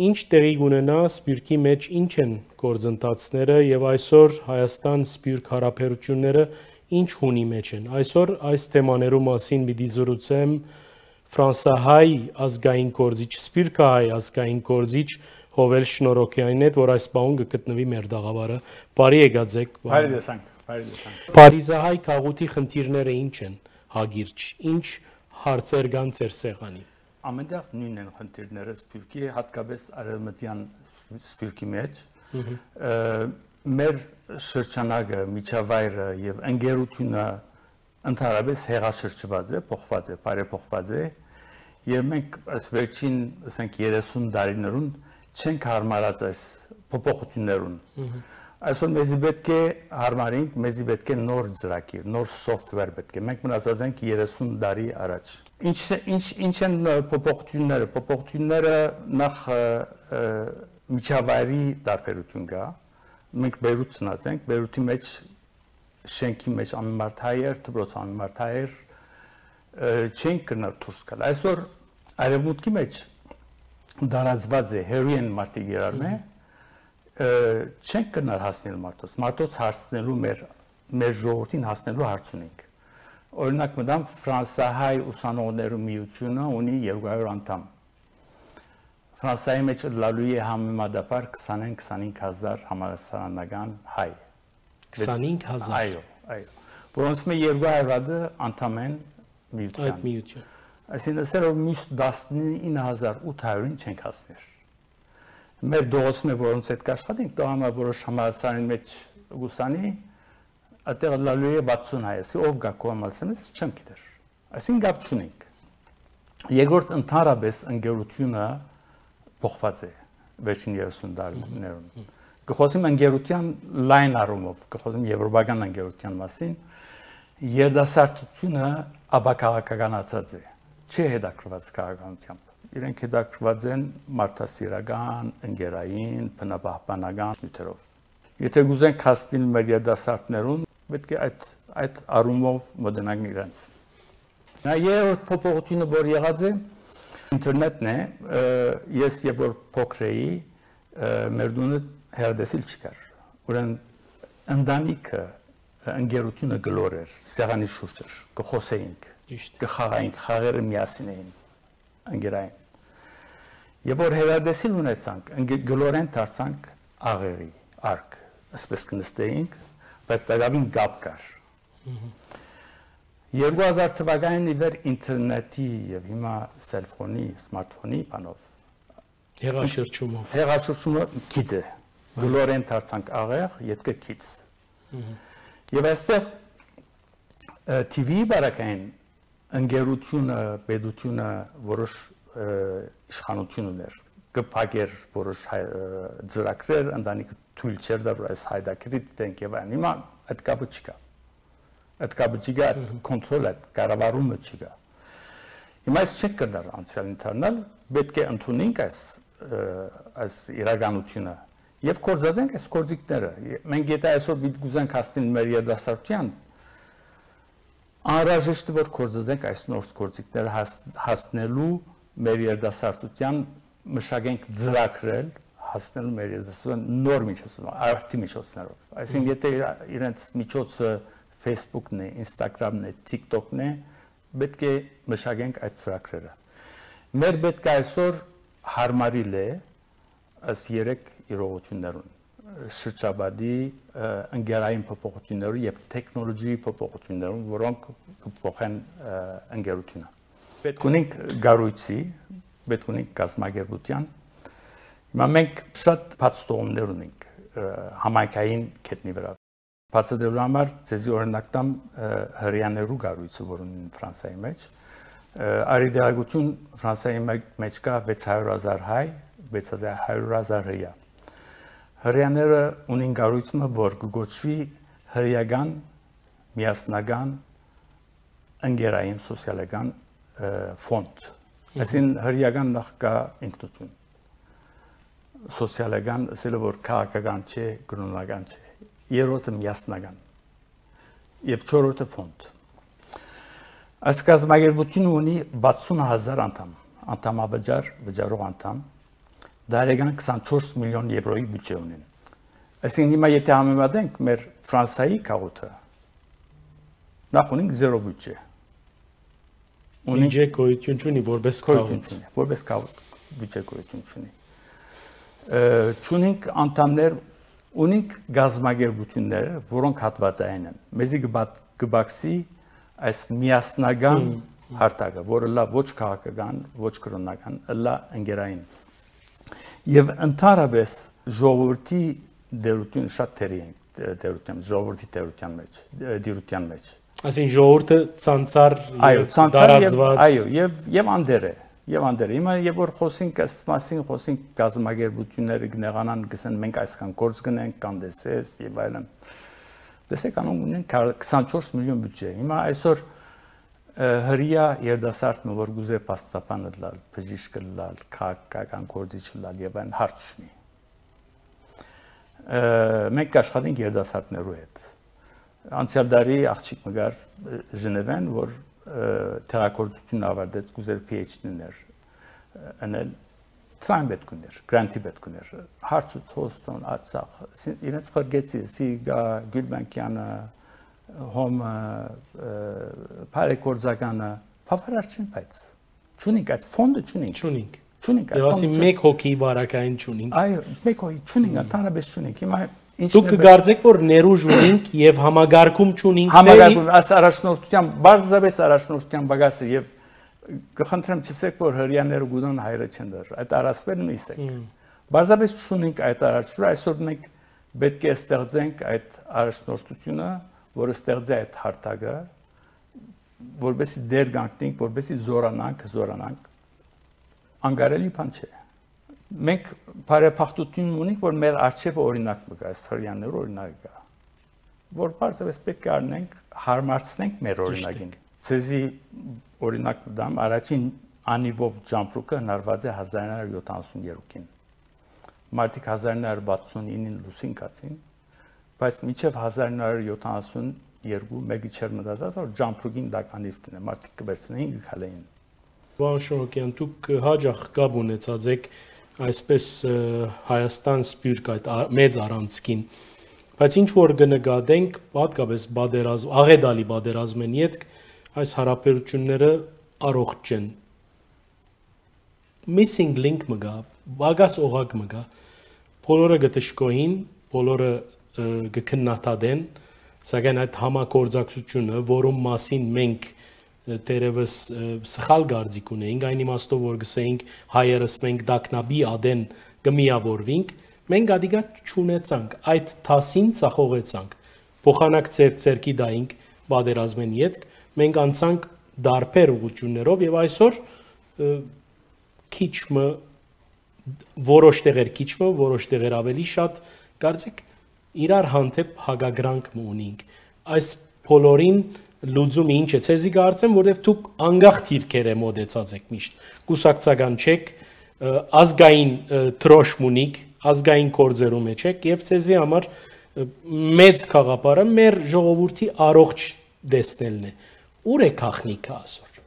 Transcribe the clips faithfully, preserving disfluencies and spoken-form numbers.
Ինչ տեղի կ'ունենայ Սփիւռքի մէջ, ինչ են գործընթացները եւ այսօր Հայաստան-Սփիւռք յարաբերութիւնները ինչ հունի մէջ են։ Այսօր այս թեմաներու մասին պիտի զրուցեմ ֆրանսահայ ազգային գործիչ, սփիւռքահայ ազգային գործիչ Յովէլ Շնորհօքեանին հետ, որ այս պահուն կը գտնուի մեր տաղաւարը։ Բարի եկած եք։ Բարի տեսանք, բարի տեսանք։ Փարիզահայ գաղութի խնդիրները ինչ են, հակիրճ, ինչ հարցեր կան ձեր սեղանին։ Ամենտեղ նոյնն են խնդիրները Սփիւռքի, հատկապես արեւմտեան Սփիւռքի մէջ։ Մհմ։ Ը, մեր շրջանակը, միջավայրը եւ ընկերությունը ընդհանրապես հեղաշրջուած է, փոխուած է, բարեփոխուած է, եւ մենք այս վերջին, ասենք, երեսուն տարիներուն չենք յարմարած այս փոփոխութիւններուն։ Մհմ։ Այսօր մեզի պետք է յարմարենք, մեզի պետք է նոր ծրագիր, նոր software պետք է։ Մենք մնացած ենք երեսուն տարի առաջ։ Ինչ, ինչ, ինչ են, ը, փոփոխութիւնները։ Փոփոխութիւնները նախ, ը, ը, միջավայրի տարբերութիւն կայ։ Մենք Բեյրութ ծնած ենք, Բեյրութի մէջ շենքի մէջ ամեն մարդ հայ էր, դպրոց ամեն մարդ հայ էր, ը, չենք կրնար դուրս գալ։ Այսօր արեւմուտքի մէջ տարածուած է, հեռու են մարդիկ իրար մէ, ը, չենք կրնար հասնել մարդոց։ Մարդոց հասնելու մեր, մեր ժողովրդին հասնելու հարց ունենք։ Օրինակ մտամ, ֆրանսահայ ուսանողներու միութիւնը ունի երկու հարիւր անդամ։ Ֆրանսայի մէջ ըլլալու է համեմատաբար քսանին, քսանհինգ հազար համալսարանական հայ։ Քսանհինգ հազար։ Այո, այո։ Որոնց մէջ երկու հարիւրը անդամ են միութեան։ Այդ միութեան։ Այսինքն, ասել որ մյուս տասնինը հազար ութ հարիւրին չենք հասներ։ Մեր դողոսմէ, որոնց հետ կաշխատենք, տղամարդ որոշ համալսարանի մէջ կուսանի, այդտեղ ըլլալու է վաթսուն հայ, ասի, ով գայ քո համալսարանի մէջ, չեմ գիտեր։ Այսինքն, կապ չունենք։ Երկրորդ, ընդհանրապես ընկերությունը փոխված է վերջին երեսուն տարիներուն։ Մհմ։ Կը խօսեմ ընկերութեան լայն առումով, կը խօսեմ եվրոպական ընկերութեան մասին, երիտասարդությունը ապաքաղաքականացած է, չի հետաքրքրված քաղաքականությամբ։ Իրենք հետաքրքրված են մարդասիրական, ընկերային, բնապահպանական նիւթերով։ Եթե կուզենք հասնել մեր երիտասարդներուն, պետք է այդ, այդ առումով մոտենանք իրենց։ Նա երրորդ փոփոխությունը, որ եղած է, ինտերնետն է, ը, ես երբ որ փոքր էի, ը, մեր տունը հեռատեսիլ չկար։ Ուրեմն ընտանիքը, ընկերությունը գլոր էր, սեղանի շուրջ էր, կը խօսեինք, ճիշդ, կը խաղայինք, խաղերը միասին էին, ընկերային։ Երբ որ հեռատեսիլ ունեցանք, ընկե-, գլորեն դարձանք աղեղի, արկ, այսպես կը նստեինք, բայց տակաւին կապ կար։ Մհմ։ Երկու հազար թվականին ի վեր ինտերնետի եւ հիմա սելֆոնի, սմարթֆոնի բանով հեղաշրջումով։ Հեղաշրջումը գիծ է։ Այո։ Գլորեն դարձանք աղեղ, ետքը գիծ։ Մհմ։ Եւ այստեղ, ը, TV-ի բարակային ընկերությունը, պետությունը որոշ, ը, իշխանություն ուներ, կը փակէր որոշ հայ-, ը, ծրագրեր, ընտանիքը թոյլ չէր տար, որ այս հայտագիրը դիտենք եւ այն։ Հիմա այդ կապը չկա։ Այդ կապը չկա, այդ Մհմ։ կոնտրոլ, այդ կառավարումը չկա։ Հիմա այս չենք կրնար անցեալին դառնալ, պետք է ընդունենք այս, ը, այս իրականությունը եւ գործածենք այս գործիքները։ Մենք եթե այսօր պիտի կուզենք հասնել մեր երիտասարդութեան, անհրաժեշտ է, որ գործածենք այս նոր գործիքները հաս-, հասնելու մեր երիտասարդութեան, մշակենք ծրագրեր, հասնելու մեր երիտասարդության նոր միջոցներով, արդի միջոցներով։ Այսինքն, եթե իրա-, իրենց միջոցը Facebook-ն է, Instagram-ն է, TikTok-ն է, պետք է մշակենք այդ ծրագրերը։ Մեր պետք է այսօր հարմարիլ է այս երեք իրողություններուն, շրջապատի, ը, ընկերային փոփոխություններուն եւ տեխնոլոգիայի փոփոխություններուն, որոնք կփոխեն, ը, ընկերությունը։ Պետք ունենք կառույցի, պետք ունենք կազմակերպության։ Հիմա մենք շատ բաց տողումներ ունենք, ը, համայնքային կետնի վրա։ Բացատրելու համար ձեզի օրինակ տամ, ը, հրեաներու կառույցը, որ ունին Ֆրանսայի մեջ։ Ը, արի դերակցություն Ֆրանսայի մե-, մեջ կայ վեց հարիւր հազար հայ, վեց հարիւր հազար հրեա։ Հրեաները ունին կառույցը, որ կը կոչուի հրեական միասնական ընկերային սոցիալական, ը, ֆոնդ։ Մհմ։ Այսինքն հրեական նախ կայ ինքնություն, սոցիալական, ասելը որ քաղաքական չէ, կրոնական չէ, երրորդը միասնական եւ չորրորդը ֆոնդ։ Այս կազմակերպությունը ունի վաթսուն հազար անդամ, անդամավճար, վճարող անդամ, Տարեկան քսանչորս միլիոն եվրոյի բյուջէ ունին։ Այսինքն հիմա եթե համեմատենք մեր Ֆրանսայի գաղութը, նախ ունենք զերո բյուջէ։ Ունենք Բյուջէ գոյութիւն չունի որպես գոյութիւն գաղութ։ չունի, որպես գաղ-, բյուջէ գոյութիւն չունի։ Ը, չունենք անդամներ, ունենք գազམ་ակերպութիւններ, որոնք հատուածային են։ Մեզի կը բաց-, կը բացի այս միասնական Հմ, հմ։ հարթակը, որը լա ոչ քաղաքական, ոչ կրօնական, ըլլայ ընկերային։ Եւ ընդհանրապես ժողովրդի դերությունը շատ թերի ենք, դերության, ժողովրդի դերության մեջ, դիրության մեջ։ Այսինքն ժողովուրդը ցանցար Այո, և ցանցար և, տարածված։ այո, և, և անդեր է, և անդեր է։ Հիմա, երբ որ խոսենք այս մասին, խոսենք գազམ་ակերպութիւնները կնեղանան, կսեն, «Մենք այսքան գործ կնենք, կան տեսես», և այլն։ Տեսեք, անոնք ունեն քսանչորս միլիոն բյուջէ։ Հիմա այսօր, ը, հրեայ երիտասարդ մը, որ կուզէ փաստաբան ըլլալ, բժիշկ ըլլալ, քաղաքական գործիչ ըլլալ և այլն, հարց չունի։ Ը, մենք կաշխատենք երիտասարդներու հետ։ Անցյալ տարի աղջիկ մը կար, ը, Ժնևեն, որ, ը, տեղագործութիւն ավարտեց, կուզեր P H D-ներ, ը, ընել, դրան պէտք ուներ, գրանտի պէտք ուներ։ Հարցուց Հոստոն, Արցախ, սի-, իրենց ղրկեցի, սի գա Գիւլբանկեանը, Հոմը, ը, բարեգործականը, բավարար չեն, բայց չունենք, այդ ֆոնդը չունենք։ Չունենք։ Չունենք այդ Եվ ասի ֆոնդը, չունենք։ մեկ հոգի բարակային չունենք։ Այո, մեկ հոգի չունենք, Հմ։ ընդհանրապես չունենք։ Հիմա ինչ Դուք նպեր- կգարձեք, որ ներուժ ունենք և համագարկում չունենք, թե Համագարկում, այս առաջնորդության, պարզապես առաջնորդության պակաս է, և կխնդրեմ, չսեք, որ հրեաները գուտան հայրը չեն դեր, այդ առասպելն ըսեք։ Հմ։ Պարզապես չունենք այդ առաջնորդը, այսօր մենք պետք է ստեղծենք այդ առաջնորդությունը, որը ստեղծի այդ հարթակը, որպեսզի դեր կանգնենք, որպեսզի զորանանք, զորանանք, անկարելի բան չէ։ Մենք բարեբախտություն ունենք, որ մեր առջևը օրինակ մը կա, այս հրեաներու օրինակ կա, որ պարզապես պետք է առնենք, հարմարցնենք մեր Ճիշդ օրինակին։ եք։ Ձեզի օրինակ մը տամ, առաջին անիվով Ջամպրուկը հնարված է հազար ինը հարյուր յոթանասուն երկուին։ Մարդիկ հազար ինը հարյուր վաթսուն ինին լուսին գացին, բայց մինչեւ հազար ինը հարյուր յոթանասուն երկու մէկը չէր մտածած, որ Ջամպրուկին տակ անիվ տնէ, մարդիկ կը վերցնեին, կը քալեին։ Պարոն Շնորհքեան, դուք հաճախ կապ ունեցած եք այսպես, ը, Հայաստան-Սփիւռք այդ ա-, մեծ առանցքին, բայց ինչ որ կը նկատենք, հատկապես պատերազմ, աղետալի պատերազմէն ետք, այս հարաբերությունները առողջ չեն։ Missing link մը կա, պակաս օղակ մը կա։ Բոլորը կը դժգոհին, բոլորը, ը, կը քննադատեն, սակայն այդ համագործակցությունը, որուն մասին մենք, ը, դեռևս, ը, սխալ կարծիք ունեինք, այն իմաստով, որ կսեինք, հայերս մենք տագնապի ատեն կը միաւորուինք, մենք ատիկա չունեցանք, այդ դասին ձախողեցանք, փոխանակ ձեր ձեռքի տայինք պատերազմէն ետք, մենք անցանք դարբեր ուղղություններով և այսօր, ը, քիչ մը, որոշ տեղեր քիչ մը, որոշ տեղեր ավելի շատ, կարծեք, իրար հանդէպ հակակրանք մը ունինք։ Այս բոլորին լուծումը ինչ է, ձեզի կարծեմ, որտեվ դուք անկախ դիրքերէ մոտեցած եք միշտ։ Կուսակցական չեք, ը, ազգային, ը, դրոշմ ունիք, ազգային գործերու մեջ եք, և ձեզի համար, ը, մեծ գաղափարը մեր ժողովուրդի առողջ տեսնելն է։ Ո՞ւր է գաղտնիքը այսօր։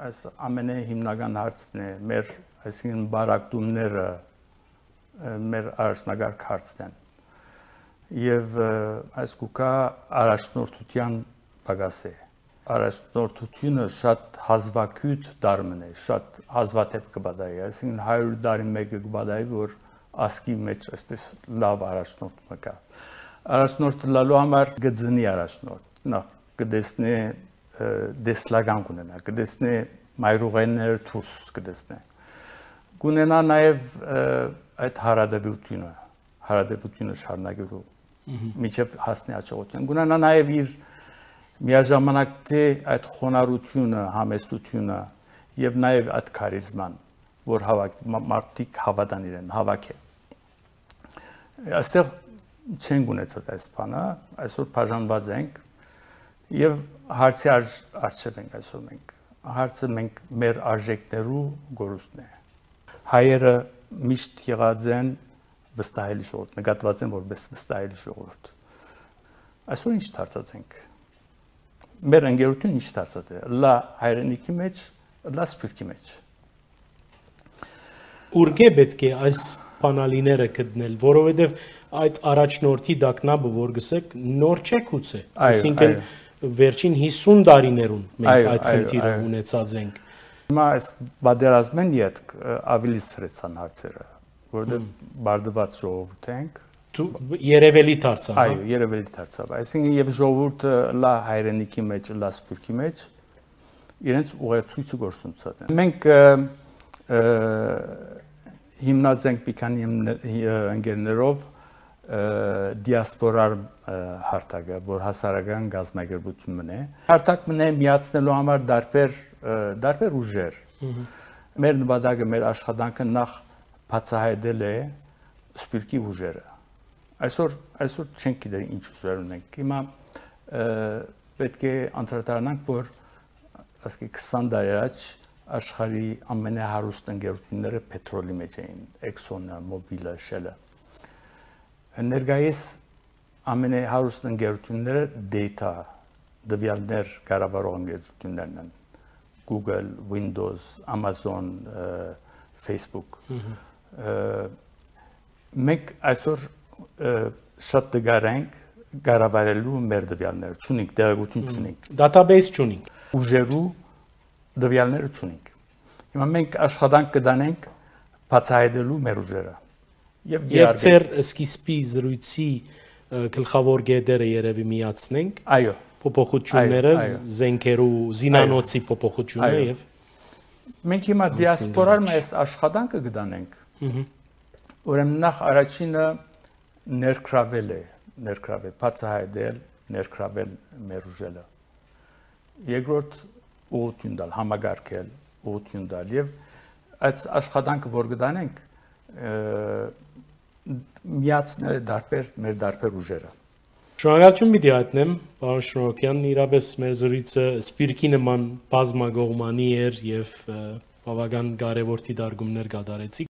Այս ամենէ հիմնական հարցն է, մեր, այսինքն, բարակտումները, ը, մեր առաջնակարգ հարցն են։ Եվ, ը, այս կուքա առաջնորդության պակաս է։ Առաջնորդությունը շատ հազվագիւտ դար մը է, շատ հազվադեպ կը պատահի, այսինքն, հարիւր տարին մէկը կը պատահի, որ ազգի մեջ այսպես լաւ առաջնորդ մը կա։ Առաջնորդ ըլլալու համար կը ծնի առաջնորդ, նախ կը տեսնի, ը, տեսլական կունենա, կը տեսնի մայրուղիները դուրս կը տեսնի։ Կունենա նաև, ը, այդ հարատեւությունը, հարատեւությունը շարունակելու Մհմ։ մինչև հասնի հաջողության։ Կունենա նաև իր միաժամանակ թէ այդ խոնարհությունը, համեստությունը և նաև այդ քարիզման, որ հավաք-, մա-, մարդիկ հավատան իրեն, հավաքը։ Այստեղ չենք ունեցած այս բանը, այսօր բաժանված ենք և հարցի արժ-, առջև ենք այսօր մենք։ Հարցը մենք մեր արժեքներու կորուստն է։ Հայերը միշտ եղած են վստահելի ժողովուրդ, նկատված են որպես վստահելի ժողովուրդ։ Այսօր ինչ դարձած ենք։ Մեր ընկերությունը ինչ դարձած է։ Լա հայրենիքի մեջ, լա սփիւռքի մեջ։ Ուրկէ պէտք է այս բանալիները գտնել, որովհետեւ այդ առաջնորդի տագնապը, որ գսեք, նոր չէ գուցե։ Այո, այսինքն այո։ Վերջին հիսուն տարիներուն մենք Այո, այդ այո, խնդիրը այո։ Ունեցած ենք։ Հիմա այս պատերազմէն ետք, ը, ավելի սրեցան հարցերը, որովհետեւ Մմ։ Բարդուած ժողովուրդ ենք։ Դու երևելի դարձան, հա։ Այո, երևելի դարձավ։ Այսինքն, եւ ժողովուրդը լա հայրենիքի մեջ, լա սփիւռքի մեջ, իրենց ուղեցույցը գործունեացած են։ Մենք, ը, ը, հիմնած ենք մի քանի հիմն-, ը, ընկերներով, ը, դիասպորար, ը, հարթակը, որ հասարակական կազմակերպություն մնե։ Հարթակ մնե միացնելու համար դարբեր, ը, դարբեր ուժեր։ Մհմ։ Մեր նպատակը, մեր աշխատանքը նախ բացահայտել է սփիւռքի ուժերը։ Այսօր, այսօր չենք գիտեր ինչ ուժեր ունենք։ Հիմա, ը, պէտք է անդրադառնանք, որ, ասկի, քսան տարի առաջ աշխարհի ամենահարուստ ընկերությունները պետրոլի մեջ էին, Exxon-ը, Mobil-ը, Shell-ը։ Ներկայիս ամենահարուստ ընկերությունները data, տվեալներ կառավարող ընկերություններն են։ Google, Windows, Amazon, ը, Facebook։ Մհմ։ Ը, մենք այսօր, ը, շատ դժուար ենք կառավարելու մեր տվեալները, չունենք, տեղեկություն Մհմ։ Չունենք։ Database չունենք։ Ուժերու տվեալները չունենք։ Հիմա մենք աշխատանք կդանենք բացահայտելու մեր ուժերը։ Եւ Եվ գերարբեր- ձեր սկիզբի զրույցի, ը, գլխաւոր կետերը երեւի միացնենք։ Այո։ Փոփոխությունները, Այո, այո։ Զենքերու, զինանոցի Այո։ փոփոխությունը Այո։ Եւ Մենք հիմա անցնենք դիասպորար առաջ։ Մայս աշխատանքը կդանենք։ Մհմ։ Ուրեմն նախ առաջինը ներգրավել է, ներգրավել, բացահայտել, ներգրավել մեր ուժերը։ Երկրորդ ուղղություն տալ, համակարգել, ուղղություն տալ եւ այդ աշխատանքը, որ կդանենք, ը, միացնել է դարբեր, մեր դարբեր ուժերը։ Շնորհակալություն պիտի հայտնեմ, պարոն Շնորհոքյան, իրապես մեր զրույցը սպիրկի նման բազմակողմանի էր եւ, ը, բավական կարեւոր դիտարկումներ կատարեցիք։